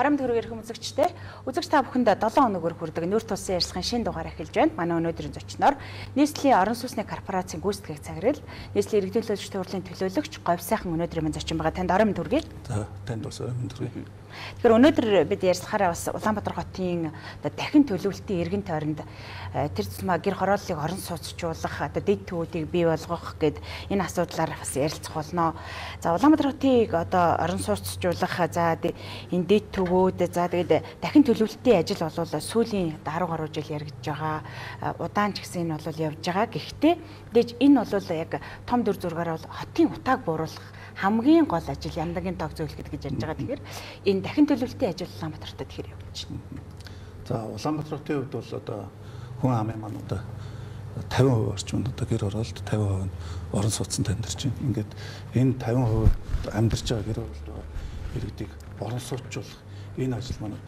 Орон төгрөг эрхэм үзэгчдээ үзэгч та бүхэнд 7 хоногор хүрдэг нүүр тулсан ярилцлагын шинэ дугаар эхэлж байна. Манай өнөөдрийн зочноор Nestlé орон сууцны корпорацийн гүйцэтгэх цагирал, Nestlé иргэдийн төлөөлөгчдийн хурлын төлөөлөгч Говь сайхан өнөөдрийн минь зочин байгаа. Танд орон төгрөгийг. За, танд бас орон төгрөгийг. Тэгэхээр өнөөдөр бид ярилцахаараа бас Улаанбаатар хотын дахин төлөвлөлтийн эргэн тойронд тэр тусмаа гэр хорооллыг орон сууцчлуулах, дэд төвүүдийг бий болгох гэд энэ асуудлаар бас ярилцах болно. За, Улаанбаатар хотыг орон сууцчлуулах, за энэ дэд төвүүд, за тэгээд дахин төлөвлөлтийн ажил бол сүүлийн 10 гаруй жил яригдж байгаа. Удаан ч гэсэн энэ бол явж байгаа. Гэхдээ энэ бол яг том дүр зургаараа бол хотын утааг бууруулах хамгийн гол ажил яндагийн тоог зөвлөхөд гэж ярьж байгаа. Тэгэхээр энэ дахин төлөвлөлтийн ажил Улаанбаатарт тэгэхээр явж байна. За, Улаанбаатар хотын хувьд бол хүн амын маань 50% орчим гэр хороолт, 50% нь орон сууцнд амьдарч байна. Ингээд энэ 50% амьдарч байгаа гэр хороолт байгаа иргэдийг орон сууцчлуулах энэ ажил маань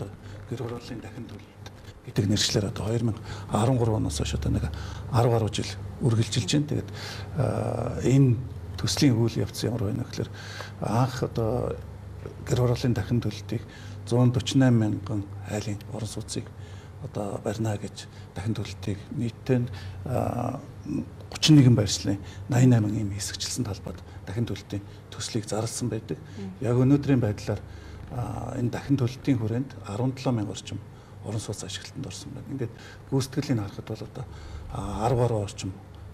гэр хорооллын дахин төлөвлөлт гэдэг нэршлэр 2013 оноос хойш 10 гаруй жил үргэлжилж байна. Тэгээд энэ төслийн үйл явц ямар байна гэхээр анх гэр хорооллын дахин төлөлтийг 148 мянган айлын орон сууцыг барина гэж дахин төлөлтийг нийтдээ 31 байршлын 88 ийм хэсэгчлсэн талбайд дахин төлөлтийн төслийг зарласан байдаг. Яг өнөөдрийн байдлаар энэ дахин төлөлтийн хүрээнд 17 мянга орчим орон сууц ашиглалтанд орсон байна. Ингээд гүйцэтгэлийг харахад бол 10 гаруй орчим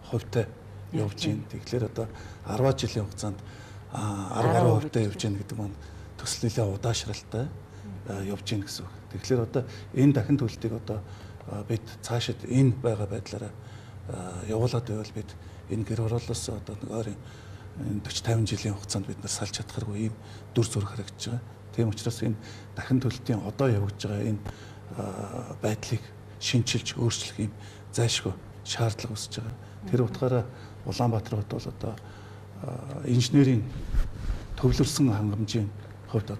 хувьтай явж байна. Тэгэхээр 10 жилийн хугацаанд 10 гаруй хувьтай явж байна гэдэг маань төслөлөө удаашралтай явж байна гэсэн үг. Тэгэхээр энэ дахин төлөлтийг бид цаашид энэ байгаа байдлаараа явуулаад байвал бид энэ гэр хорооллоос ойрын 40-50 жилийн хугацаанд бид нар салж чадхааргүй ийм дүр зураг харагдаж байгаа. Тийм учраас энэ дахин төлөлтийн явагдаж байгаа энэ байдлыг шинчилж өөрчлөх ийм зайлшгүй шаардлага үүсэж байгаа. Тэр утгаараа Улаанбаатар хот бол инженерийн төвлөрсөн хангамжийн хувьд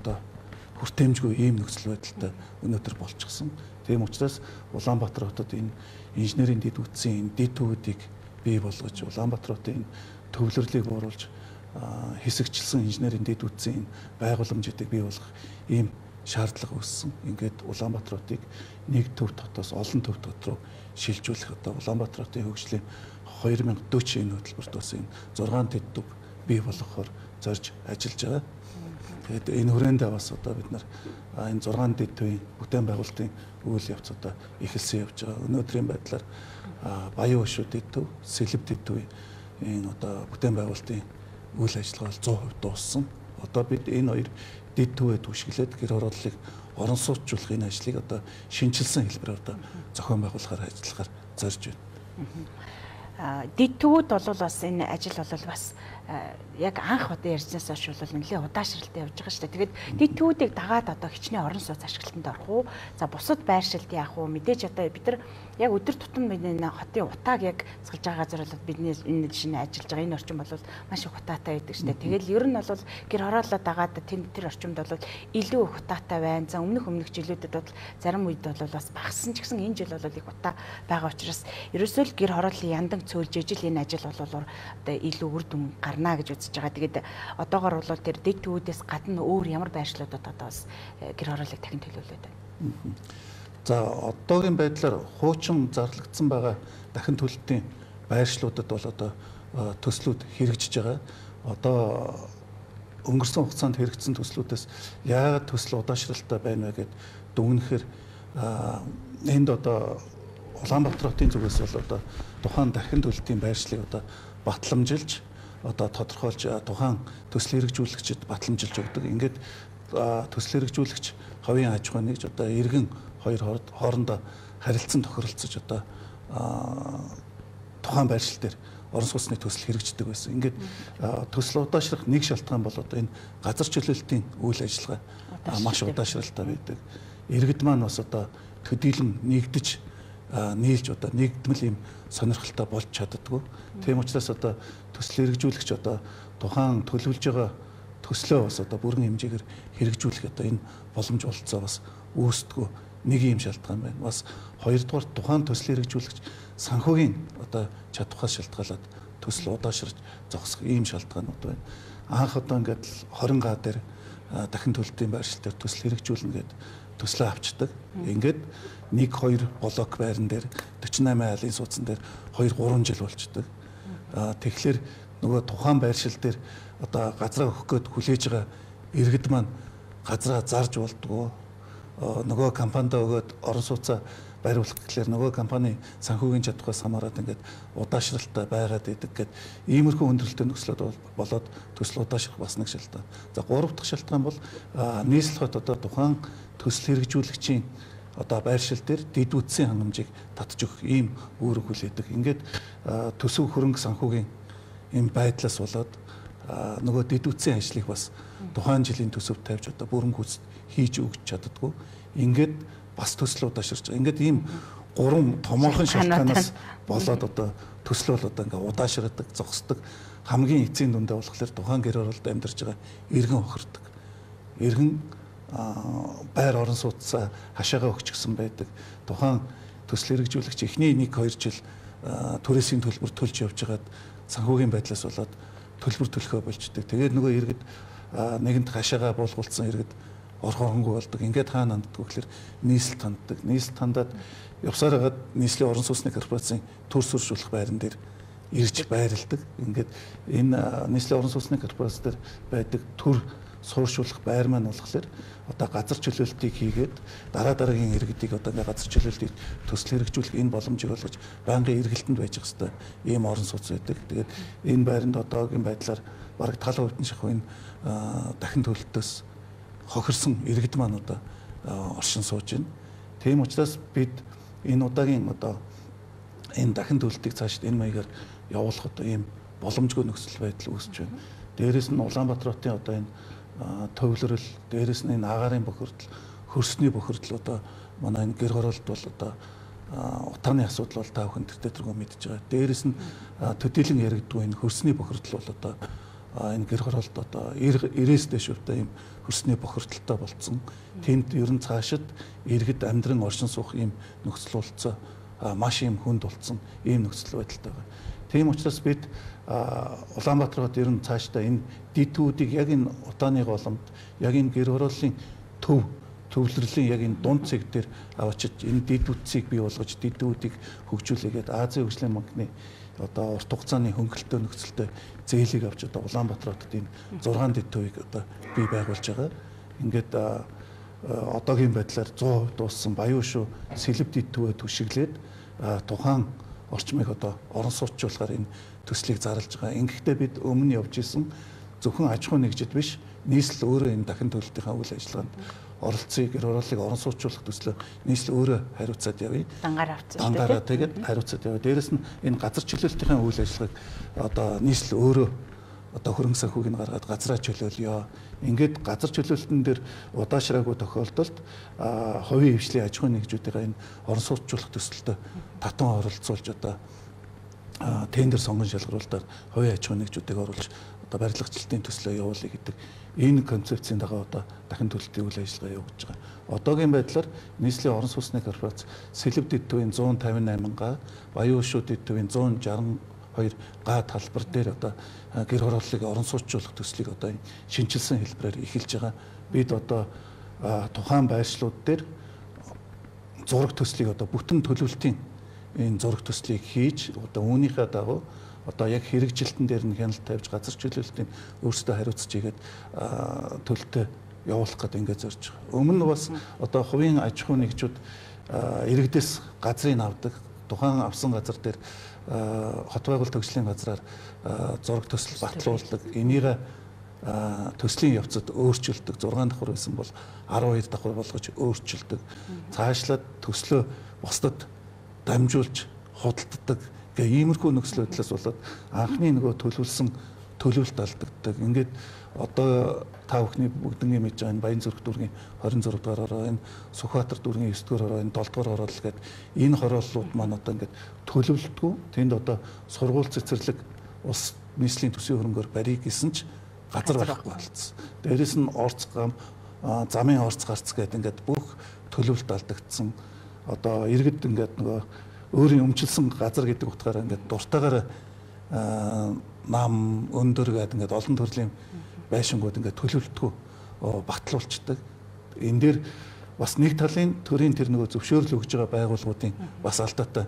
хүртээмжгүй ийм нөхцөл байдалтай өнөөдөр болчихсон. Тийм учраас Улаанбаатар хотод энэ инженерийн дэд үтсийн дэд төвүүдийг бий болгож Улаанбаатар хотын төвлөрлийг бууруулж хэсэгчлсэн инженерийн дэд үтсийн байгууламжуудыг бий болгох ийм шаардлага үүссэн. Ингээд Улаанбаатар хотыг нэг төв дотоос олон төв дот руу шилжүүлэх Улаанбаатар хотын хөгжлийн 2040 энэ хөтөлбөрт бас энэ 6 дэд төв бий болгохоор зорж ажиллаж байгаа. Тэгээд энэ хүрээндээ бас бид нар энэ 6 дэд төвийн бүтээн байгуулалтын үйл явц эхэлсэн явж байгаа. Өнөөдрийн байдлаар Баян Өшөө дэд төв, Сэлэв дэд төвийн энэ бүтээн байгуулалтын үйл ажиллагаа 100% дууссан. Бид энэ хоёр дэд төвөө түшиглээд гэр хорооллыг орон сууцчлуулах энэ ажлыг шинчилсэн хэлбэрээр зохион байгуулахаар ажиллахаар зорж байна. Дэд төвүүд бол бас энэ ажил бол бас яг анх ярьснаас хойш бол нэлээд удаашралтай явж байгаа шүү дээ. Тэгээд дэд төвүүдийг дагаад хичнээн орон сууц ашиглалтанд орох уу? За, бусад байршилт яах уу? Мэдээж бид нар яг өдөр тутам энэ хотын утааг яг цалж байгаа газар бол бидний энэ шинэ ажиллаж байгаа энэ орчин бол маш их утаатай байдаг шүү дээ. Тэгэл ер нь бол гэр хорооллоо дагаад тэр орчимд бол илүү их утаатай байна. За, өмнөх жилүүдэд бол зарим үед бол бас багассан ч гэсэн энэ жил бол их утаа байгаа учраас ерөөсөө л гэр хорооллын яндан цөөлж ижил энэ ажил бол илүү үр дүн гарна гэж үзэж байгаа. Тэгээд одоогоор бол тэр дэд төвүүдээс гадна өөр ямар байршлуудад бас гэр хорооллыг дахин төлөвлөд байна. За, одоогийн байдлаар хуучин зарлагдсан байгаа дахин төлөлтийн байршлуудад бол төслүүд хэрэгжиж байгаа. Өнгөрсөн хугацаанд хэрэгжсэн төслүүдээс яагаад төсөл удаашралтай байна вэ гэд дүгнэхээр энд Улаанбаатар хотын зүгээс бол тухайн дахин төлөлтийн байршлыг батламжилж тодорхойлж тухайн төсөл хэрэгжүүлэгчид батламжилж өгдөг. Ингээд төсөл хэрэгжүүлэгч хавийн аж ахуй нэгж иргэн хоёр хоорондоо харилцан тохиролцож тухайн байршил дээр орон сууцны төсөл хэрэгждэг байсан. Ингээд төсөл удаашрах нэг шалтгаан бол энэ газар чөлөөлтийн үйл ажиллагаа маш удаашралтай байдаг. Иргэд маань бас төдийлөн нэгдэж нийлж нэгдмэл ийм сонирхолтой болж чаддаггүй. Тийм учраас төсөл хэрэгжүүлэгч тухайн төлөвлөж байгаа төслөө бас бүрэн хэмжээгээр хэрэгжүүлэх энэ боломж олцоо бас үүсдэггүй нэг ийм шалтгаан байна. Бас хоёрдугаар тухайн төсөл хэрэгжүүлэгч санхүүгийн чадвараас шалтгаалаад төсөл удаашрж зогсох ийм шалтгаанууд байна. Анх ингээд 20 га дээр дахин төлөлтийн байршил дээр төсөл хэрэгжүүлнэ гэд төслөө авчдаг. Ингээд 1-2 блок байран дээр 48 айлын суудсан дээр 2-3 жил болчдөг. Тэгэхээр нөгөө тухайн байршил дээр одоо газраа өгөх гээд хүлээж байгаа иргэд маань газраа зарж болдгоо нөгөө компанид өгөөд орон сууцаа бариулах гэхлээр нөгөө компани санхүүгийн чадхаас хамаарат ингээд удаашралтай байгаад идэг гэд иймэрхүү хүндрэлтэй нөхцлөд болоод төсөл удаашрах бас нэг шалтгаан. За 3 дахь шалтгаан бол нийслэл хот одоо тухайн төсөл хэрэгжүүлэгчийн одоо байршил дээр дэд үтсийн хангамжийг татж өгөх ийм үүрэг хүлээдэг. Ингээд төсөв хөрөнгө санхүүгийн ийм байдлаас болоод нөгөө дэд үтсийн ажлыг бас тухайн жилийн төсөвт тавьж одоо бүрэн гүйцэд хийж өгч чаддаггүй. Ингээд бас төслөө удаашрч байгаа. Ингээд ийм 3 томоохон шалтгаанаас болоод одоо төслөө бол одоо ингээд удаашрдаг, зогсдог. Хамгийн эцсийн дүндээ болохоор тухайн гэр оролд амьдарч байгаа иргэн хохирдог. Иргэн байр орон сууцаа хашаага өгч гсэн байдаг. Тухайн төсөл хэрэгжүүлэгч эхний 1-2 жил түрээсийн төлбөр төлж явж байгаад санхүүгийн байдлаас болоод төлбөр төлөхөө болждаг. Тэгээд нөгөө иргэд нэгэнт хашаага буулгуулсан иргэд орхоронгүй болдог. Ингээд хаана ханддаг вэ гэхээр нийслэл ханддаг. Нийслэл хандаад явсаар хагаад нийслэлийн орон сууцны корпорацийн төр суршуулах байран дээр ирж байрладаг. Ингээд энэ нийслэлийн орон сууцны корпорац дээр байдаг төр сууршуулах байр маань болохоор одоо газар чөлөөлтийг хийгээд дараагийн иргэдийг одоо газар чөлөөлтийг төсөл хэрэгжүүлэх энэ боломжийг олгож байнгын эргэлтэнд байж хэвээр ийм орон сууц байдаг. Тэгээд энэ байранд одоогийн байдлаар бараг 70% нь шахуу энэ дахин төлөлтөөс хохирсон иргэд маань одоо оршин сууж байна. Тийм учраас бид энэ удаагийн одоо энэ дахин төлөлтийг цаашид энэ маягаар явуулах одоо ийм боломжгүй нөхцөл байдал үүсэж байна. Дээрээс нь Улаанбаатар хотын одоо энэ төвлөрөл, дээрээс нь энэ агаарын бохирдол, хөрсний бохирдол одоо манай энэ гэр хороолт бол одоо утааны асуудал бол та бүхэн тэртээ мэдж байгаа. Дээрээс нь төдийлөн яригдгүй энэ хөрсний бохирдол бол одоо энэ гэр хороолт одоо 90-ээс дээш хувьтай ийм хөрсний бохирдолтой болцсон. Тэнд ер нь цаашид иргэд амьдран оршин суух ийм нөхцөл болцоо маш ийм хүнд болцсон ийм нөхцөл байдалтай байна. Тийм учраас бид Улаанбаатар хот ер нь цаашдаа энэ дидүүдийг яг энэ утааны голомт, яг энэ гэр хорооллын төвлөрлийн яг энэ дунд цэг дээр авчиж энэ дид үтсийг бий болгож дидүүдийг хөгжүүлээгээд Азийн хөгжлийн банкны одоо урт хугацааны хөнгөлөлтөө нөхцөлтэй зээлийг авч одоо Улаанбаатар хотод энэ 6 дид төвийг одоо бий байгуулж байгаа. Ингээд одоогийн байдлаар 100% дууссан Баян шүү сэлб дид төвөө түшиглээд тухайн орчмыг одоо орон сууцчлахаар энэ төслийг зарлж байгаа. Ингэхдээ бид өмнө явж исэн зөвхөн аж ахуй нэгжид биш, нийслэл өөрөө энэ дахин төлөлтийнхаа үйл ажиллагаанд оролцъё, гэр хорооллыг орон сууцлах төслөө нийслэл өөрөө хариуцаад явъя. Дангаараа тэгээд хариуцаад явъя. Дээрэс нь энэ газар чөлөөлтийн үйл ажиллагааг одоо нийслэл өөрөө одоо хөрөнгө санхүүг нь гаргаад газраа чөлөөлөё. Ингээд газар чөлөөлтөн дээр удаашраагүй тохиолдолд хувийн хвшлийн аж ахуйн нэгжүүдийн энэ орон сууцчлах төсөлтөд татан оролцуулж одоо тендер сонгон шалгаруулалтаар хувийн аж ахуйн нэгжүүдийг оруулж одоо барилгачлалтын төслөө явуулъя гэдэг энэ концепцийн дагуу одоо дахин төлөлтийн үйл ажиллагаа явуулж байгаа. Одоогийн байдлаар нийслэлийн орон сууцны корпорац сэлб дид төвийн 158 га, Баян шүү дид төвийн 162 га талбар дээр одоо гэр хорооллыг орон сууцчлах төслийг одоо шинжилсэн хэлбэрээр эхэлж байгаа. Бид одоо тухайн байршлууд дээр зураг төслийг одоо бүтэн төлөвлөлтийн энэ зураг төслийг хийж одоо үүнийхээ дагуу одоо яг хэрэгжилтэн дээр нь хяналт тавьж газар чөлөөлтийн өөрсдөө хариуцж игээд төлөлтөө явуулах гэдэг ингээд зорж байгаа. Өмнө нь бас одоо хувийн аж ахуй нэгжүүд иргэдээс газрыг авдаг. Тухайн авсан газар дээр хот байгуулалт төгслийн газраар зураг төсөл батлуулдаг. Энийг төслийн явцад өөрчилдөг. 6 давхар байсан бол 12 давхар болгож өөрчилдөг. Цаашлаад төслөө бусдад дамжуулж худалддаг гэх иймэрхүү нөхцөл байдлаас болоод анхны нөгөө төлөвлөсөн төлөвлөлт алдагддаг. Ингээд одоо та бүхний бүгднийг мэдж байгаа энэ Баянзүрх дүүргийн 26 дугаар хороо, энэ Сүхбаатар дүүргийн 9 дугаар хороо, энэ 7 дугаар хороол гэдэг энэ хорооллууд маань одоо ингээд төлөвлөлтгүй. Тэнд одоо сургууль цэцэрлэг ус нийслэлийн төсвийн хөрөнгөөр барих гэсэн ч газар байхгүй болцсон. Дээрээс нь орц гам, замын орц гарц гэдэг ингээд бүх төлөвлөлт алдагдсан. Одоо иргэд ингээд нөгөө өөрийн өмчлсөн газар гэдэг утгаараа ингээд дуртайгаар нам өндөр гэдэг ингээд олон төрлийн байшингууд ингээд төлөвлөлтгүй батлуулцдаг. Энэ дээр бас нэг талын төрийн тэр нөгөө зөвшөөрөл өгж байгаа байгууллагуудын бас алдаатай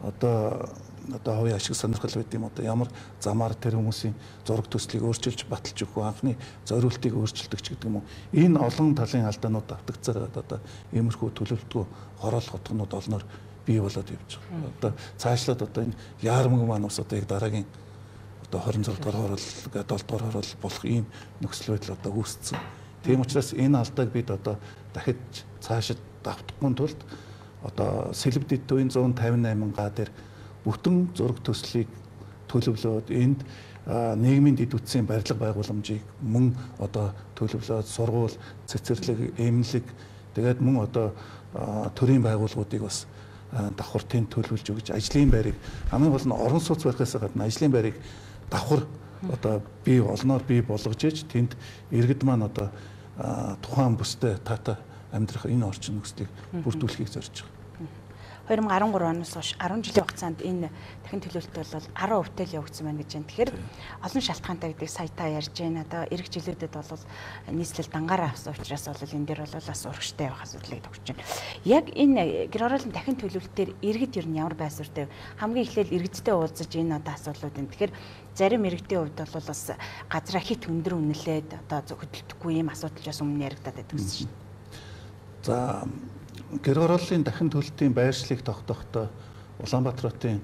одоо хувийн ашиг сонирхол байд юм одоо ямар замаар тэр хүмүүсийн зураг төслийг өөрчилж баталж өгөх анхны зориултыг өөрчилдөг ч гэдэг юм уу. Энэ олон талын алдаанууд давтагцаар одоо иймэрхүү төлөвлөлтгүй хороолох утганууд олноор бий болоод явж байгаа. Одоо цаашлаад одоо энэ яармаг маань бас одоо яг дараагийн одоо 26 дугаар хороол 7 дугаар хороол болох ийм нөхцөл байдал одоо үүссэн. Тийм учраас энэ алдааг бид одоо дахиж цаашид давтахгүй тулд одоо Сэлб дэд төвийн 158 га дээр бүтэн зураг төслийг төлөвлөөд энд нийгмийн дэд үтсийн барилга байгууламжийг мөн одоо төлөвлөөд сургууль, цэцэрлэг, эмнэлэг тэгээд мөн одоо төрийн байгууллагуудыг бас давхар тэнд төлөвлөж өгч ажлын байрыг хамгийн гол нь орон сууц барихаас гадна ажлын байрыг давхар одоо бий олноор бий болгож иж тэнд иргэд маань одоо тухайн бүстэй тата амьдрах энэ орчин нөхцөлийг бүрдүүлэхийг зорж байгаа. 2013 оноос хойш 10 жилийн хугацаанд энэ дахин төлөвлөлт бол 10% л явагдсан байна гэж байна. Тэгэхээр олон шалтгаантай гэдэг сая та ярьж байна. Одоо эх жилүүдэд бол нийслэл дангаараа авсан учраас бол энэ дээр бол бас урагштай явах асуудлыг тогтж байна. Яг энэ гэр ороолын дахин төлөвлөлтөөр иргэд ер нь ямар байсвартай хамгийн эхлээл иргэдтэй уулзаж энэ одоо асуудлууд энэ. Тэгэхээр зарим иргэдийн хувьд бол бас газраа хит өндөр үнэлээд одоо хөдөлтөхгүй ийм асуудал бас өмнө яригадаад байдаг гэсэн шин. За гэр орооллын дахин төлөлтийн байршлыг тогтоохдоо Улаанбаатар хотын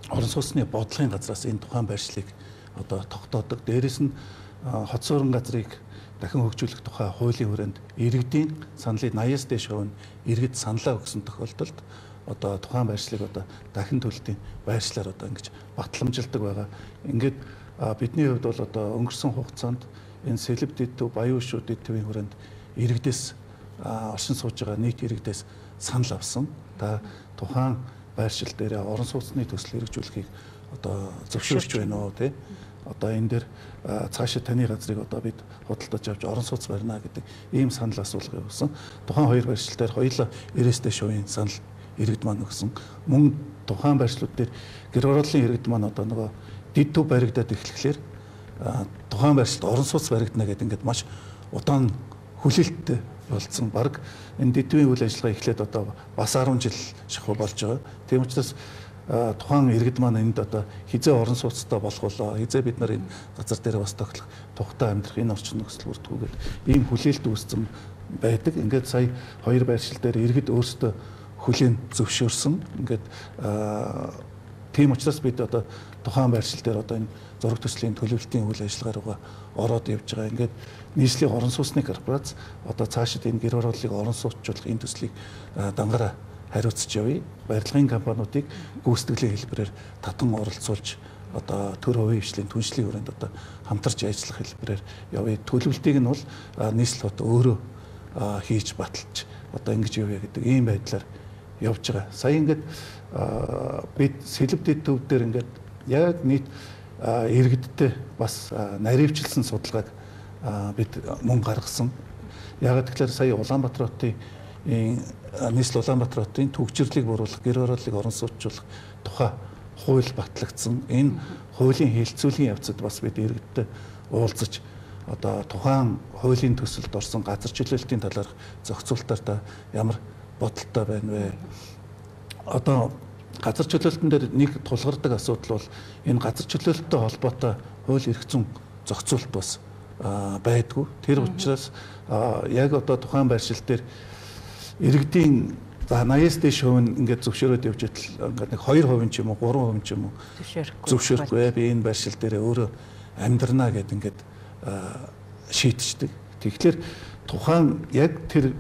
орон сууцны бодлогын газраас энэ тухайн байршлыг одоо тогтоодог. Дээрээс нь хот суурин газрыг дахин хөгжүүлэх тухай хуулийн хүрээнд иргэдийн саналыг 80-аас дээш хувь нь иргэд саналаа өгсөн тохиолдолд одоо тухайн байршлыг одоо дахин төлөлтийн байршлаар одоо ингэж батламжилдаг байгаа. Ингээд бидний хувьд бол одоо өнгөрсөн хугацаанд энэ Сэлб дэд төв, Баян Хөшөө дэд төвийн хүрээнд иргэдээс оршин сууж байгаа нийт иргэдээс санал авсан. Та тухайн байршил дээр орон сууцны төсөл хэрэгжүүлэхийг одоо зөвшөөрч байна уу тий? Одоо энэ дээр цаашаа таны газрыг одоо бид худалдаж авч орон сууц барина гэдэг ийм санал асуулга явуулсан. Тухайн хоёр байршил дээр хоёулаа 90-тэй шувийн санал иргэд маань өгсөн. Мөн тухайн байршлууд дээр гэр орооллын иргэд маань одоо нөгөө дэд төв баригдаад эхлэхлээр тухайн байршилд орон сууц баригдана гэдэг ингээд маш удаан хүлээлттэй болсон. Бараг энэ дэдвийн үйл ажиллагаа эхлээд одоо бас 10 жил шахуу болж байгаа. Тийм учраас тухайн иргэд маань энд одоо хизээ орон сууцтай болох болоо, хизээ бид нар энэ газар дээр бас тоглох, тухтай амьдрах энэ орчин нөхцөл бүрдгүүгээд ийм хүлээлт үүссэн байдаг. Ингээд сая хоёр байршил дээр иргэд өөрсдөө хүлээн зөвшөөрсөн. Ингээд тийм учраас бид одоо тухайн байршил дээр одоо энэ зураг төслийн төлөвлөлтийн үйл ажиллагаа руугаа ороод явж байгаа. Ингээд нийслэлийн орон сууцны корпорац одоо цаашид энэ гэр орооллыг орон сууцчлах энэ төслийг дангаараа хариуцж явъя. Барилгын компаниудыг гүйцэтгэлийн хэлбэрээр татан оролцуулж одоо төр хувийн хвшлийн түншлэлийн хүрээнд одоо хамтарч ажиллах хэлбэрээр явъя. Төлөвлөлтийг нь бол нийслэл хот өөрөө хийж баталж одоо ингэж явъя гэдэг ийм байдлаар явж байгаа. Сая ингээд бид Сэлб дэд төв дээр ингээд яг нийт иргэдтэй бас наривчлсан судалгааг бид мөн гаргасан. Яг тэгэхээр сая Улаанбаатар хотын нийслэл Улаанбаатар хотын төгжрлийг буруулах, гэр орооллыг орон сууцчлах тухай хууль батлагдсан. Энэ хуулийн хэлэлцүүлгийн явцад бас бид иргэдтэй уулзаж одоо тухайн хуулийн төсөлд орсон газар чөлөөлтийн талаарх зохицуултаар та ямар бодолтой байна вэ? Одоо газар чөлөөлтөн дээр нэг тулгардаг асуудал бол энэ газар чөлөөлттэй холбоотой хууль эрх зүйн зохицуулт бас байдгүй. Тэр учраас яг одоо тухайн байршил дээр иргэдийн 80-аас дээш хувь нь ингээд зөвшөөрөөд явж идэл ингээд нэг 2% ч юм уу 3% ч юм уу зөвшөөрөхгүй. Би энэ байршил дээр өөрөө амьдрнаа гэд ингээд шийдчихдэг. Тэгэхээр тухайн яг тэр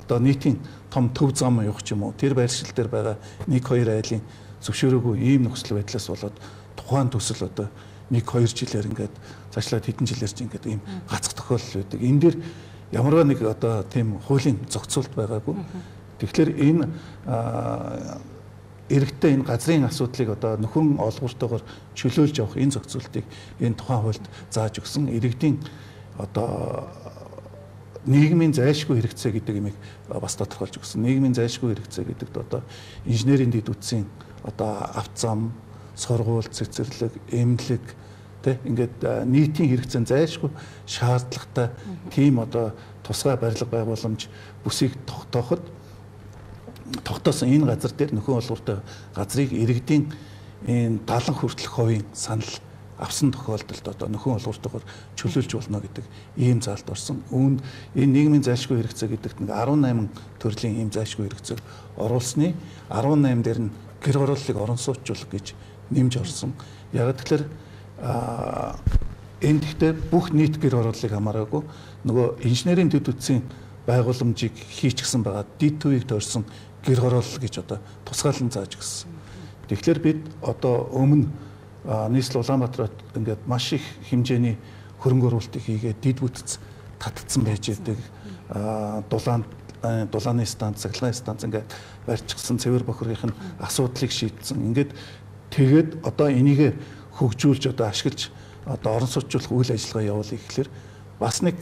одоо нийтийн том төв зам явах ч юм уу тэр байршил дээр байгаа 1-2 айлын зөвшөөрөөгүй ийм нөхцөл байдлаас болоод тухайн төсөл одоо 1-2 жилээр ингээд цаашлаад хэдэн жилээр ч ингээд ийм гацх тохиолдол байдаг. Энэ дээр ямарваа нэг одоо тийм хуулийн зохицуулт байгаагүй. Тэгэхээр энэ иргэдтэй энэ газрын асуудлыг одоо нөхөн олгууртайгаар чөлөөлж явах энэ зохицуултыг энэ тухайн хуульд зааж өгсөн. Иргэдийн одоо нийгмийн зайлшгүй хэрэгцээ гэдэг имийг бас тодорхойлж өгсөн. Нийгмийн зайлшгүй хэрэгцээ гэдэгт одоо инженерийн дэд үтсийн одоо авто зам, сургууль, цэцэрлэг, эмнэлэг Тэ ингээд нийтийн хэрэгцээнд зайлшгүй шаардлагатай тийм одоо тусгай барилга байгууламж бүсийг тогтоосон энэ газар дээр нөхөн олгортой газрыг иргэдийн энэ 70 хүртэлх хувийн санал авсан тохиолдолд одоо нөхөн олгортойгоор чөлөөлж болно гэдэг ийм заалт орсон. Үүнд энэ нийгмийн зайлшгүй хэрэгцээ гэдэгт нэг 18 төрлийн ийм зайлшгүй хэрэгцээг оруулсны 18 дээр нь гэр хорооллыг орон сууцчлах гэж нэмж орсон. Яг тэгэхээр энэ гэхдээ бүх нийт гэр хорооллыг хамаараагүй нөгөө инженерийн дэд үтсийн байгууламжийг хийчихсэн байгаа дид төвийг тойрсон гэр хороолл гэж одоо тусгаалan зааж гисэн. Тэгэхээр бид одоо өмнө нийслэл Улаанбаатарт ингээд маш их хэмжээний хөрөнгө оруулалтыг хийгээд дид бүтц татцсан байж идэг. Дулааны станц, цахилгааны станц ингээд барьчихсан цэвэр бохиргын асуудлыг шийдсэн. Ингээд тэгээд одоо энийг хөгжүүлж одоо ашиглаж одоо орон сууцчлах үйл ажиллагаа явуулъя гэхэлэр бас нэг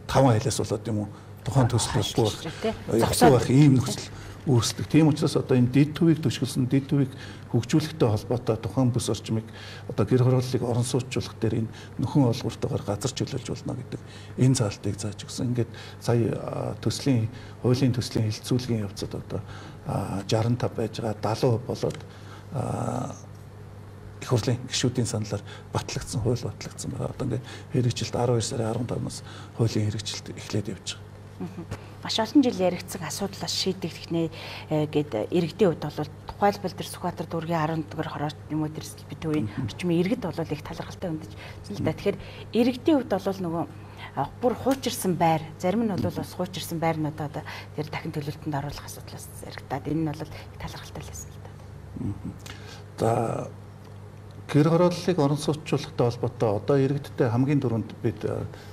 5 айлаас болоод юм уу тухайн төсөл зогсоох байх ийм нөхцөл үүсдэг. Тийм учраас одоо энэ дид төвийг төшгөлсөн дид төвийг хөгжүүлэхтэй холбоотой тухайн бүс орчмыг одоо гэр хорооллыг орон сууцчлах дээр энэ нөхөн олгортойгоор газар чөлөөлж болно гэдэг энэ заалтыг зааж өгсөн. Ингээд сая хуулийн төслийн хилцүүлгийн явцад одоо 65 байж байгаа 70% болоод их хурлын гишүүдийн саналаар батлагдсан, хууль батлагдсан байгаа. Одоо ингээд хэрэгжилт 12 сарын 15-наас хуулийн хэрэгжилт эхлээд явж байгаа. Маш олон жил яригдсан асуудлаас шийдэгдэх нэ гээд иргэдийн хувьд бол тухайлбал тэр Сүхбаатар дүүргийн 11-р хорооч юм уу тэр битүүийн орчмын иргэд бол их талархалтай өндөж л да. Тэгэхээр иргэдийн хувьд бол нөгөө бүр хуучирсан байр, зарим нь бол бас хуучирсан байрнуудаа одоо тэр дахин төлөвлөлтөнд оруулах асуудлаас зэрэгтээд энэ нь бол их талархалтай л байсан л да. За гэр хорооллыг орон сууцчлахтай холбоотой одоо иргэдтэй хамгийн түрүүнд бид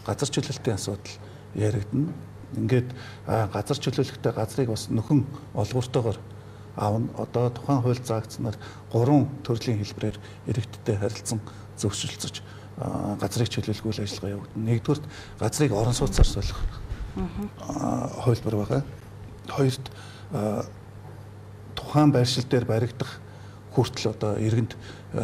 газар чөлөөлтийн асуудал яригдана. Ингээд газар чөлөөлөхтэй газрыг бас нөхөн олгортойгоор аавна. Одоо тухайн хууль заагдсанаар 3 төрлийн хэлбэрээр иргэдтэй харилцан зөвшөөрлөж газрыг чөлөөлөх үйл ажиллагаа явагдана. Нэгдүгürt газрыг орон сууцаар солих хуулбар байгаа. Хоёрт тухайн байршил дээр баригдах хүртэл одоо иргэнд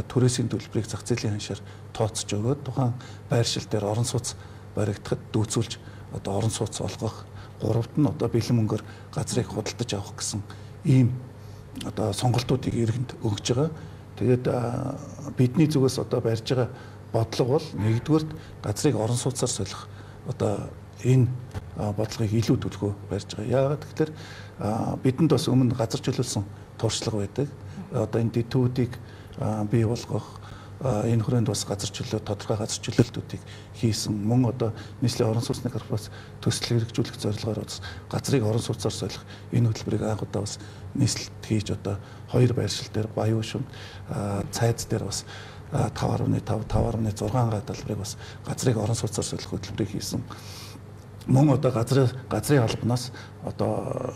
түрээсийн төлбөрийг зах зээлийн ханшаар тооцож өгөөд тухайн байршил дээр орон сууц баригдахад дүүцүүлж одоо орон сууц олгох, гуравт нь одоо бэлэн мөнгөөр газрыг худалдаж авах гэсэн ийм одоо сонголтуудыг иргэнд өгж байгаа. Тэгээд бидний зүгээс одоо барьж байгаа бодлого бол нэгдүгürt газрыг орон сууцаар солих одоо энэ бодлогыг илүү төлхөө барьж байгаа. Яагаад гэвэл бидэнд бас өмнө газар чөлөөлсөн туршлага байдаг. Одоо энэ дэдтүүдийг бий болгох энэ хүрээнд бас тодорхой газар чөлөөлтүүдийг хийсэн. Мөн одоо нийслэлийн орон сууцны корпорац төсөл хэрэгжүүлэх зорилгоор бас газрыг орон сууцаар солих энэ хөтөлбөрийг анх удаа бас нийслэлд хийж одоо 2 байршил дээр Баян шүмд цайз дээр бас 5.5, 5.6 га талбарыг бас газрыг орон сууцаар солих хөтөлбөрийг хийсэн. Мөн одоо газрын албанаас одоо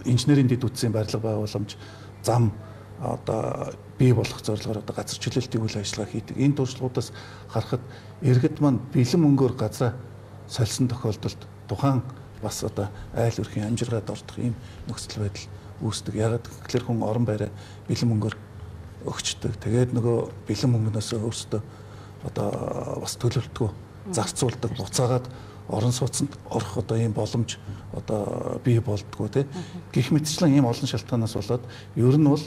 инженерийн дэд үтсийн барилга байгууламж зам одоо бий болох зорилгоор одоо газар чөлөөлтийн үйл ажиллагаа хийдэг. Энэ туршлагуудаас харахад иргэд маань бэлэн мөнгөөр газраа сольсон тохиолдолд тухайн бас одоо айл өрхийн амжиргаад ордох ийм нөхцөл байдал үүсдэг. Ягаад гэвэл хүн орон байраа бэлэн мөнгөөр өгчдөг. Тэгээд нөгөө бэлэн мөнгнөөс өөрсдөө одоо бас төлөвлөлтгөө зарцуулдаг, буцаагаад орон сууцнд орох одоо ийм боломж одоо бий болдгоо тий. Гэх мэтчлэн ийм олон шалтгаанаас болоод ер нь бол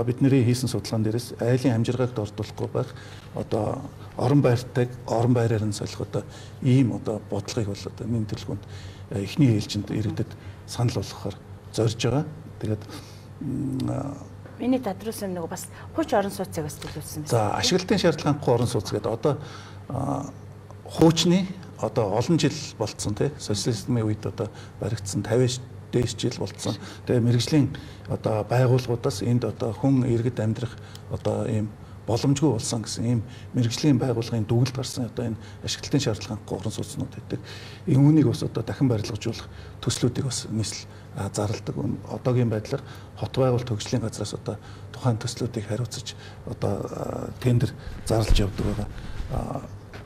бидний хийсэн судалгаан дээрээс айлын амжиргааг дордуулахгүй байх одоо орон байраар нь солих одоо ийм одоо бодлогыг бол одоо миний төлөвлөгөөнд эхний ээлжинд иргэдэд санал болгохоор зорж байгаа. Тэгээд миний тодруулсан нэг бас хууч орон сууцыг бас төлөвлөсөн байна. За ашиглалтын шаардлагагүй орон сууц гэдэг одоо хуучны одоо олон жил болцсон тий социализмын үед одоо баригдсан 50 дээш жил болцсон. Тэгээ мэрэгжлийн одоо байгууллагуудаас энд одоо хүн иргэд амьдрах одоо ийм боломжгүй болсон гэсэн ийм мэрэгжлийн байгууллагын дүгнэлт гарсан одоо энэ ашиглалтын шаардлагагүй орон сууцнууд гэдэг. Үүнийг бас одоо дахин барилгажуулах төслүүдийг бас нийслэл зарладаг. Одоогийн байдлаар хот байгуулалт хөгжлийн газраас одоо тухайн төслүүдийг хариуцаж одоо тендер зарлаж явдаг байгаа.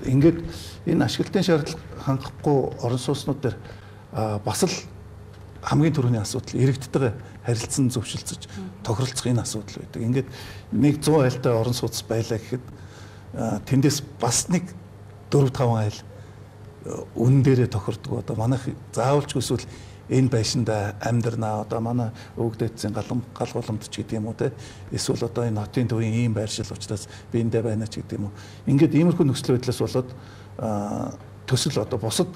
Ингээд энэ ашиглалтын шаардлага хангахгүй орон сууцнууд дээр бас л хамгийн түрүүний асуудал иргэдтэйгээ харилцан зөвшөлдсөж тохиролцох энэ асуудал байдаг. Ингээд нэг 100 айлтай орон сууц байлаа гэхэд тэндээс бас нэг 4-5 айл үнэн дээрээ тохирдог. Одоо манайх заавалч эсвэл энэ байшинда амьдрнаа. Одоо манай өвгдөөцийн гал голамт ч гэдэг юм уу те. Эсвэл одоо энэ хотын төвийн ийм байршил учраас би эндээ байна ч гэдэг юм уу. Ингээд иймэрхүү нөхцөл байдлаас болоод төсөл одоо бусад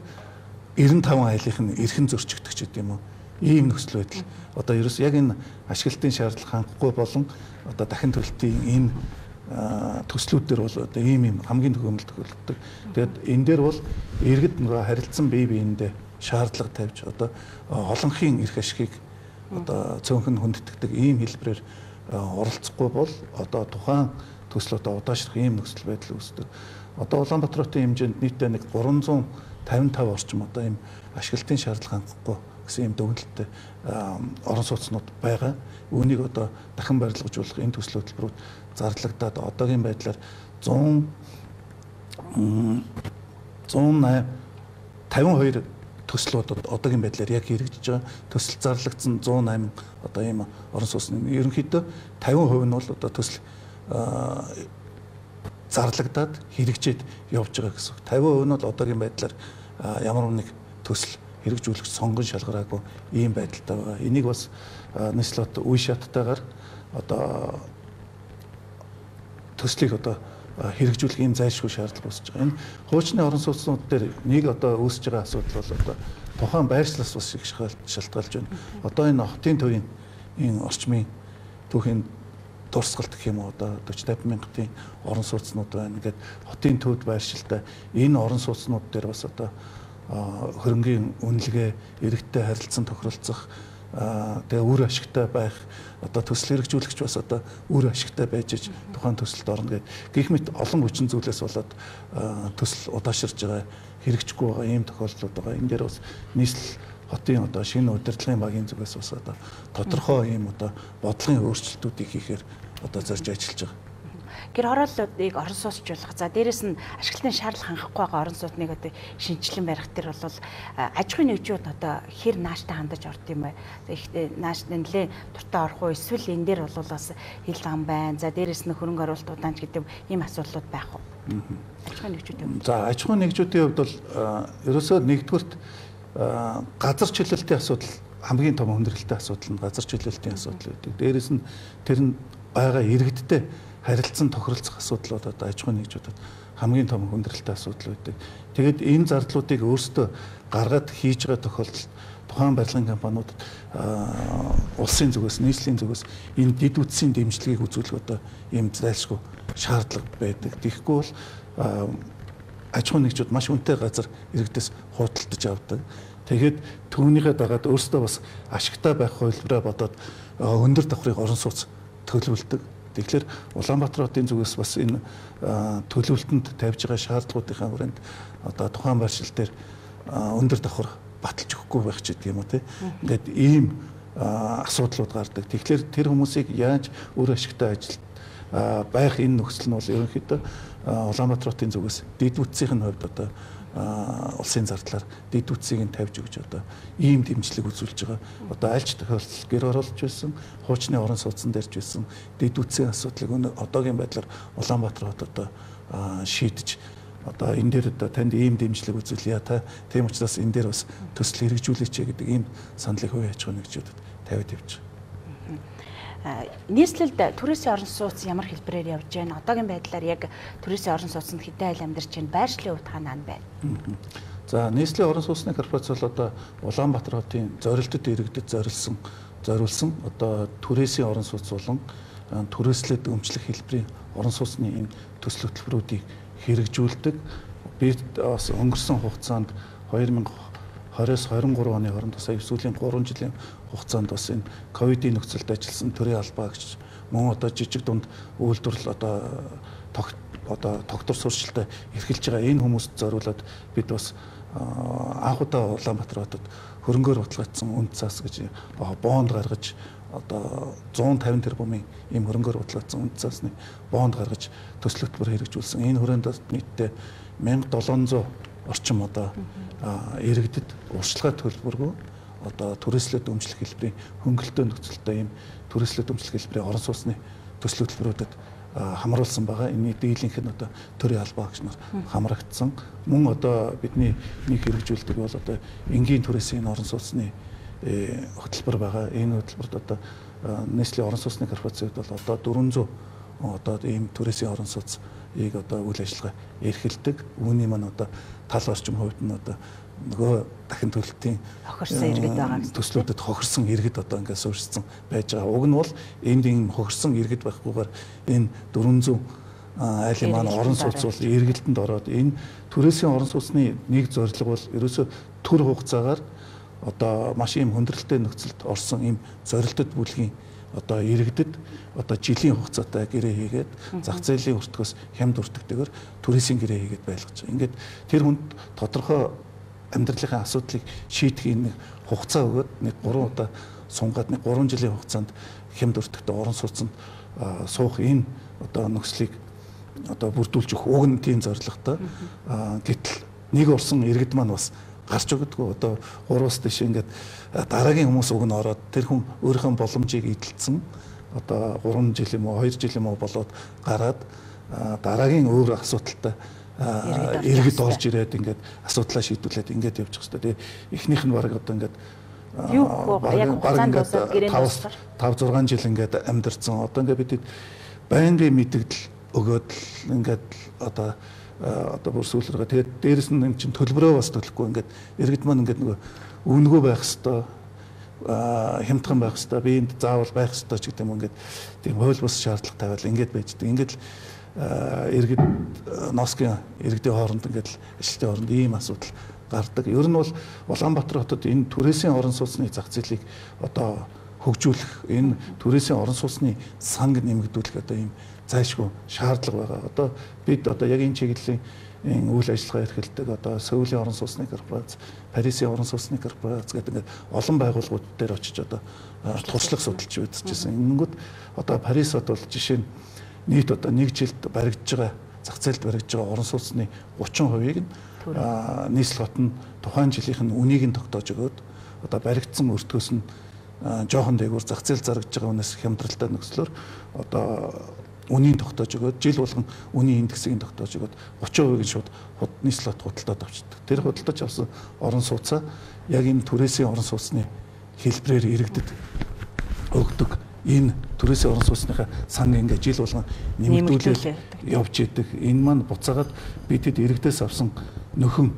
95 айлынх нь эрхэн зөрчигдөх ч гэдэг юм уу. Ийм нөхцөл байдал. Одоо ерөөс яг энэ ашиглалтын шаардлага хангахгүй болон одоо дахин төлөлтийн энэ төслүүд дээр бол одоо ийм хамгийн төгөөмөл тохиолддог. Тэгээд энэ дээр бол иргэд нөгөө харилцан бие биендээ шаардлага тавьж одоо олонхын эрх ашигыг одоо цөөнхөн хүндэтгдэг ийм хэлбэрээр оролцохгүй бол одоо тухайн төсөл одоо удаашрах ийм нөхцөл байдал үүсдэг. Одоо Улаанбаатар хотын хэмжээнд нийтдээ нэг 355 орчим одоо ийм ашиглалтын шаардлага хангахгүй гэсэн ийм дүгнэлттэй орон сууцнууд байгаа. Үүнийг одоо дахин барилгажуулах энэ төсөл хөтөлбөрүүд зарлагдаад одоогийн байдлаар 152 төслүүд одоогийн байдлаар яг хэрэгжиж байгаа. Төсөл зарлагдсан 108 одоо ийм орон сууцны ерөнхийдөө 50% нь бол одоо төсөл зарлагдаад хэрэгжээд явж байгаа гэсэн. 50% нь бол одоогийн байдлаар ямар нэг төсөл хэрэгжүүлэх сонгон шалгараагүй ийм байдалтай байгаа. Энийг бас нийслэлд үе шаттайгаар одоо төслийг одоо хэрэгжүүлэх ийм зайлшгүй шаардлага үүсэж байгаа. Энэ хуучны орон сууцнууд дээр нэг одоо үүсэж байгаа асуудал бол одоо тухайн байршлаас бас их шалтгаалж байна. Одоо энэ хотын төвийн энэ орчмын түүхийн дурсгалт гэх юм уу одоо 40-50 мянгатын орон сууцнууд байна. Ингээд хотын төвд байршилтай энэ орон сууцнууд дээр бас одоо хөрөнгийн үнэлгээ, иргэдтэй харилцан тохиролцох, тэгээ үр ашигтай байх, одоо төсөл хэрэгжүүлэгч бас одоо үр ашигтай байж тухайн төсөлд орно гэдэг. Гэх мэт олон хүчин зүйлээс болоод төсөл удаашрж байгаа, хэрэгжихгүй байгаа ийм тохиолдлууд байгаа. Энэ дээр бас нийслэл хотын одоо шинэ удирдлагын багийн зүгээс бас одоо тодорхой ийм одоо бодлогын өөрчлөлтүүдийг хийхээр одоо зорж ажиллаж байгаа. Гэр хорооллуудыг орон сууцчлуулах. За дээрэс нь ашиглалтын шаардлага хангахгүй байгаа орон сууцныг одоо шинжилэн барих төр бол аж ахуйн нэгжүүд одоо хэр нааштай хандаж орд юм бэ? Ихтэй нааштай нэлээ дуртай орох уу? Эсвэл энэ дээр бол бас хил зам байна. За дээрэс нь хөрөнгө оруулалт удаанч гэдэг ийм асуудлууд байх уу? Аж ахуйн нэгжүүдийн хувьд. За аж ахуйн нэгжүүдийн хувьд бол ерөөсөө нэгдүгürt газар чөлөөлтийн асуудал хамгийн том хүндрэлтэй асуудал нь газар чөлөөлтийн асуудал гэдэг. Дээрэс нь тэр нь байгаа иргэдтэй харилцан тохиролцох асуудлууд одоо аж ахуйн нэгжүүдэд хамгийн том хүндрэлтэй асуудал байдаг. Тэгээд энэ зардлуудыг өөрсдөө гаргаад хийж байгаа тохиолдолд тухайн барилгын компаниудад улсын зүгээс, нийслэлийн зүгээс энэ дэд үтсийн дэмжлэгийг үзүүлэх одоо ийм зайлшгүй шаардлага байдаг. Тэгэхгүй бол аж ахуйн нэгжүүд маш үнэтэй газар иргэдээс худалдаж авдаг. Тэгээд түүнийхээ дагаад өөрсдөө бас ашигтай байх хувилбараа бодоод өндөр давхрыг орон сууц төлөвлөдөг. Тэгэхээр Улаанбаатар хотын зүгээс бас энэ төлөвлөлтөнд тавьж байгаа шаардлагуудынхаа хүрээнд одоо тухайн байршил дээр өндөр давхар баталж өгөхгүй байх ч гэдэг юм уу тийм. Ингээд ийм асуудлууд гардаг. Тэгэхээр тэр хүмүүсийг яаж өөр ашигтай ажилд байх энэ нөхцөл нь бол ерөнхийдөө Улаанбаатар хотын зүгээс дэд үтсийн хувьд одоо улсын зардлаар дэд үтсийг нь тавьж өгч одоо ийм дэмжлэг үзүүлж байгаа. Одоо альч тохиолдол гэр оролж байсан, хуучны орон сууцсан дээрж байсан дэд үтсийн асуудлыг одоогийн байдлаар Улаанбаатар хот одоо шийдэж одоо энэ дээр одоо танд ийм дэмжлэг үзүүлье та. Тийм учраас энэ дээр бас төсөл хэрэгжүүлээч гэдэг ийм саналыг хувийн аж ахуйн нэгжүүдэд тавиад явж байгаа. Нийслэлд түрээсийн орон сууц ямар хэлбэрээр явж байна? Одоогийн байдлаар яг түрээсийн орон сууцнд хэдэн айл амьдарч байна? Байршлын хувьд хаана байна? За нийслэлийн орон сууцны корпорац бол одоо Улаанбаатар хотын зорилтод иргэдэд зориулсан одоо түрээсийн орон сууц болон түрээслээд өмчлөх хэлбэрийн орон сууцны энэ төсөл хөтөлбөрүүдийг хэрэгжүүлдэг. Би бас өнгөрсөн хугацаанд 2020-23 оны хооронд сая сүүлийн 3 жилийн хугацаанд бас энэ ковидын нөхцөлд ажилласан төрийн албаагч мөн одоо жижиг дунд үйлдвэрлэл одоо тогтвор сурчлалтад эрхэлж байгаа энэ хүмүүст зориулаад бид бас анх удаа Улаанбаатар хотод хөрөнгөөр баталгаажсан үнд цаас гэж бонд гаргаж одоо 150 тэрбумын ийм хөрөнгөөр баталгаажсан үнд цаасны бонд гаргаж төсөл хөтөлбөр хэрэгжүүлсэн. Энэ хүрээнд нийтдээ 1700 орчим одоо иргэдэд урьдчилгаа төлбөргүй одоо түрээслээд өмчлөх хэлбэрийн хөнгөлөлтөө нөхцөлтэй ийм түрээслээд өмчлөх хэлбэрийн орон сууцны төсөл хөтөлбөрүүдэд хамруулсан байгаа. Энэ дийлэнх нь одоо төрийн албаа гэж хамрагдсан. Мөн одоо бидний нэг хэрэгжүүлдэг бол одоо энгийн түрээсийн орон сууцны хөтөлбөр байгаа. Энэ хөтөлбөрт одоо Nestle орон сууцны корпорацийн хувьд бол одоо 400 одоо ийм түрээсийн орон сууцыг одоо үйл ажиллагаа эрхэлдэг. Үүний маань одоо тал орчим хувьд нь одоо нөгөө дахин төлөлтийн хохирсон иргэд байгаа юм. Төслүүдэд хохирсон иргэд одоо ингээд суурьшсан байж байгаа. Уг нь бол энд ийм хохирсон иргэд байхгүйгээр энэ 400 айлын маань орон сууц бол эргэлтэнд ороод энэ түрээсийн орон сууцны нэг зорилго бол ерөөсөө төр хугацаагаар одоо маш ийм хүндрэлтэй нөхцөлд орсон ийм зорилттой бүлгийн одоо иргэдэд одоо жилийн хугацаатай гэрээ хийгээд зах зээлийн өртгөөс хямд өртөгдөөр түрээсийн гэрээ хийгээд байлгаж байгаа. Ингээд тэр хүнд тодорхой амьдралын асуудлыг шийдэх нэг хугацаа өгөөд нэг 3 удаа сунгаад нэг 3 жилийн хугацаанд хямд өртөгтэй орон сууцнд суух энэ одоо нөхцөлийг одоо бүрдүүлж өгөх уг нь тийм зорилготой. Гэтэл нэг орсон иргэд маань бас гарч өгдөггүй одоо 3-аас дэш ингээд дараагийн хүмүүс уг нь ороод тэр хүн өөрийнхөө боломжийг эдэлсэн одоо 3 жил юм уу 2 жил юм уу болоод гараад дараагийн өөр асуудалтай иргэд орж ирээд ингээд асуудлаа шийдвүлээд ингээд явчих хэвээр. Тэгээ эхнийх нь баг одоо ингээд яг хугацаанд дуусаад гэрээнд 5-6 жил ингээд амьдэрсэн. Одоо ингээд бид байнгын мэдэгдэл өгөөд ингээд одоо бүр сүүлрээ. Тэгээд дээрэс нь энэ чинь төлбөрөө бас төлөхгүй ингээд иргэд маань ингээд нөгөө өвнөгөө байх хэвээр хямдхан байх хэвээр би энд заавал байх хэвээр ч гэдэг юм ингээд тийм хууль бус шаардлага тавиал ингээд байждаг. Ингээд л иргэд ноосгийн иргэдийн хооронд ингээд ажилтны хооронд ийм асуудал гардаг. Ер нь бол Улаанбаатар хотод энэ түрээсийн орон сууцны зах зээлийг одоо хөгжүүлэх, энэ түрээсийн орон сууцны санг нэмэгдүүлэх одоо ийм зайлшгүй шаардлага байгаа. Одоо бид одоо яг энэ чиглэлийн үйл ажиллагаа эрхэлдэг одоо Сөүлийн орон сууцны корпорац, Парисын орон сууцны корпорац гэдэг ингээд олон байгууллагууд дээр очиж одоо туршлага судалж үзчихсэн. Ингэнгүүт одоо Парис хот бол жишээ нь нийт одоо нэг жилд баригдаж байгаа зах зээлд баригдаж байгаа орон сууцны 30%-ийг нь нийслэл хот нь тухайн жилийнх нь үнийг нь тогтоож өгөөд одоо баригдсан өртгөөс нь жоохон дээгүүр зах зээл зарагдж байгаа хүнээс хямдралтай нөхцлөөр одоо үнийг тогтоож өгөөд жил болгон үнийн индексийг тогтоож өгөөд 30%-ийг шууд нийслэл хот худалдаад авчдаг. Тэр худалдаж авсан орон сууцаа яг энэ түрээсийн орон сууцны хэлбэрээр иргэдэд өгдөг. Энэ түрээсийн орон сууцныхаа санг ингээд жил болгон нэмэгдүүлээд явж идэг. Энэ маань буцаагаад бидэд иргэдээс авсан нөхөн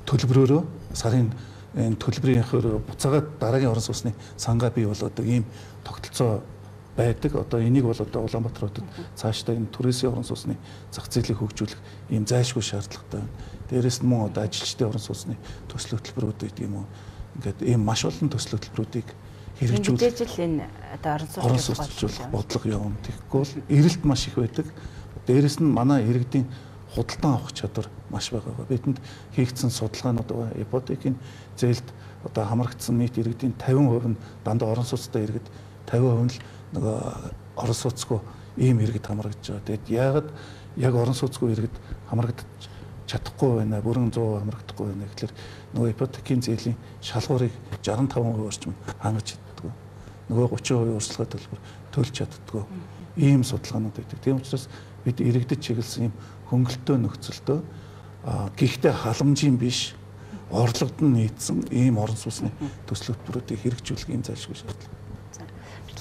төлбөрөөрөө сарын энэ төлбөрийнхөөр буцаагаад дараагийн орон сууцны сангаа бий болоодог ийм тогтолцоо байдаг. Одоо энийг бол одоо Улаанбаатар хотод цаашдаа энэ түрээсийн орон сууцны зах зээлийг хөгжүүлэх ийм зайлшгүй шаардлагатай байна. Дээрээс нь мөн одоо ажилчдын орон сууцны төсөл хөтөлбөрүүд гэдэг юм уу. Ингээд ийм маш олон төсөл хөтөлбөрүүдийг хэрэгжүүлж энэ одоо орон сууцчлах бодлого явна. Тэгэхгүй бол эрэлт маш их байдаг. Дээрээс нь манай иргэдийн худалдан авах чадвар маш бага. Бидэнд хийгдсэн судалгаанууд байгаа. Ипотекийн зээлд одоо хамрагдсан нийт иргэдийн 50% нь дандаа орон сууцтай иргэд, 50% нь л нөгөө орон сууцгүй ийм иргэд хамрагдж байгаа. Тэгэд яагаад яг орон сууцгүй иргэд хамрагдаж чадахгүй байна, бүрэн 100% хамрагдахгүй байна гэхэлэр нөгөө ипотекийн зээлийн шалгуурыг 65% орчим хангаж чаддгүй. Нөгөө 30% урьдчилгаа төлбөр төлж чаддгүй. Ийм судалгаанууд байдаг. Тийм учраас бид иргэдэд чиглэсэн ийм хөнгөлөлтөө нөхцөлтөө гэхдээ халамжийн биш орлогод нь нийцсэн ийм орон сууцны төсөл хөтөлбөрүүдийг хэрэгжүүлэх ийм зайлшгүй шаардлага.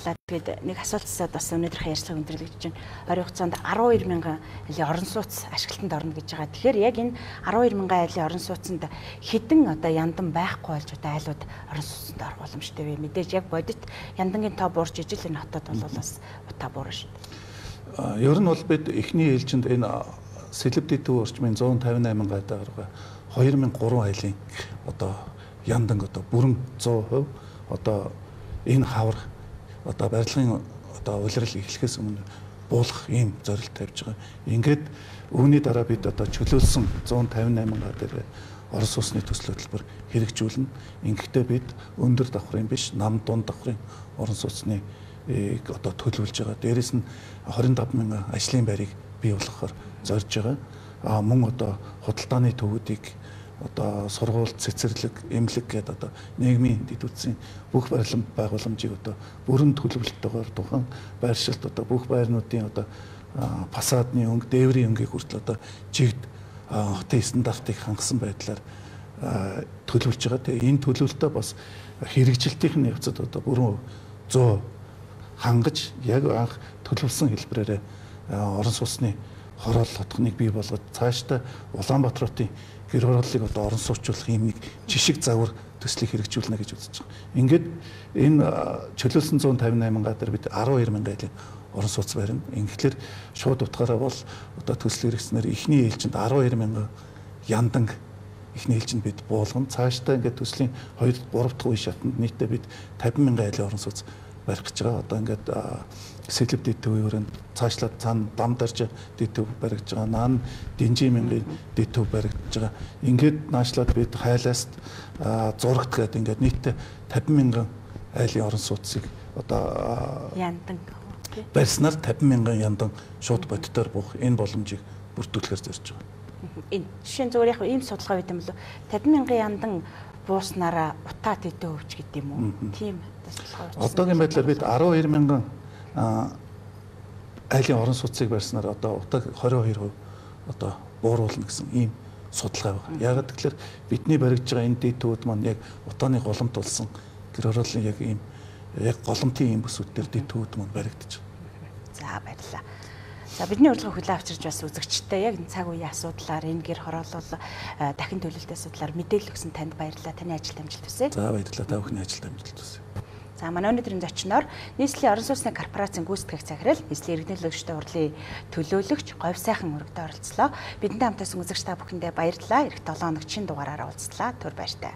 Тэгээд нэг асуултсаад бас өнөөдрийнхээ ярилцлагыг өндөрлөж чинь ойрын хугацаанд 12 мянган айлын орон сууц ашиглалтанд орно гэж байгаа. Тэгэхээр яг энэ 12 мянган айлын орон сууцанд хэдэн одоо яндан байхгүй болж одоо айлууд орон сууцанд орох боломжтой вэ? Мэдээж яг бодит яндангийн тоо буурч ижил энэ хотод бол бас утаа буурна шүү дээ. Ер нь бол бид эхний ээлжинд энэ сэлбэдийн төв орчмын 158 мянган айлаа 2003 айлын одоо яндан одоо бүрэн 100% одоо энэ хавар одоо барилгын одоо улирал эхлэхээс өмнө буулгах ийм зорилт тавьж байгаа. Ингээд үүний дараа бид одоо чөлөөлсөн 158 га дээр орон сууцны төсөл хөтөлбөр хэрэгжүүлнэ. Ингэхдээ бид өндөр давхрын биш, нам дунд давхрын орон сууцны одоо төлөвлөж байгаа. Дээрээс нь 25 мянган ажлын байрыг бий болгохоор зорж байгаа. Мөн одоо худалдааны төвүүдийг одоо сургууль, цэцэрлэг, эмнэлэг гэдэг одоо нийгмийн дэд үтсийн бүх барилга байгууламжийг одоо бүрэн төлөвлөлтөөр тухайн байршилт одоо бүх байрнуудын одоо фасадны өнгө, дээврийн өнгийг хүртэл одоо жигд хотын стандартыг хангасан байдлаар төлөвлөж байгаа. Тэгээ энэ төлөвлөлтөө бас хэрэгжилтийн явцад одоо бүрэн 100 хангаж яг анх төлөвлөсөн хэлбэрээр орон сууцны хороол хотхныг бий болгоод цаашдаа Улаанбаатарын гэр хорооллыг одоо орон сууцуулах ийм нэг жишг загвар төслийг хэрэгжүүлнэ гэж үзэж байгаа. Ингээд энэ чөлөөлсөн 158 га дээр бид 12 мянган айлын орон сууц барина. Ингэхлээр шууд утгаараа бол одоо төсөл хэрэгжснээр эхний ээлжинд 12 мянган яндан эхний ээлжинд бид буулган цаашдаа ингээд төслийн 2 3 дахь үе шатанд нийтдээ бид 50 мянган айлын орон сууц барих гэж байгаа. Одоо ингээд сэлб дэдтөвийн өрөөнд цаашлаад цаана дам дарж дэдтөв баригдаж байгаа. Наан динжи мянган дэдтөв баригдаж байгаа. Ингээд наашлаад бид хайлаас зурагт гээд ингээд нийтдээ 50 мянган айлын орон сууцыг одоо яндан барьснаар 50 мянган яндан шууд бодитоор буух энэ боломжийг бүрдүүлэхээр зорж байгаа. Энэ жишээ нь зүгээр яг ийм судалгаа байт юм болов 50 мянган яндан бууснараа утаа дэдээ өвч гэдэг юм уу? Тийм судалгаа. Одоогийн байдлаар бид 12 мянган айлын орон сууцыг барьснаар одоо утааг 22% одоо бууруулна гэсэн ийм судалгаа байна. Яг тэгэхээр бидний баригдж байгаа энэ дэдтүүд маань яг утааны голомт болсон гэр хорооллын яг ийм яг голомтын ийм бүсүүд дээр дэдтүүд маань баригдаж байна. За баярлалаа. За бидний урилгыг хүлээн авчирч бас үзэгчтэй яг энэ цаг үеийн асуудлаар энэ гэр хороолол дахин төлөлтийн асуудлаар мэдээлэл өгсөн танд баярлалаа. Таны ажилд амжилт хүсье. За баярлалаа. Та бүхний ажилд амжилт хүсье. За манай өнөөдрийн зочноор нийслэлийн орон сууцны корпорацийн гүйцэтгэх захирал, нийслэлийн иргэнүүлэгчтэй урлын төлөөлөгч Говь сайхан өргөдөө оролцлоо. Бидэнтэй хамтасан үзэгч та бүхэндээ баярлалаа. Эх 7 хоног чин дугаараараа уулзлаа. Түр баяртай.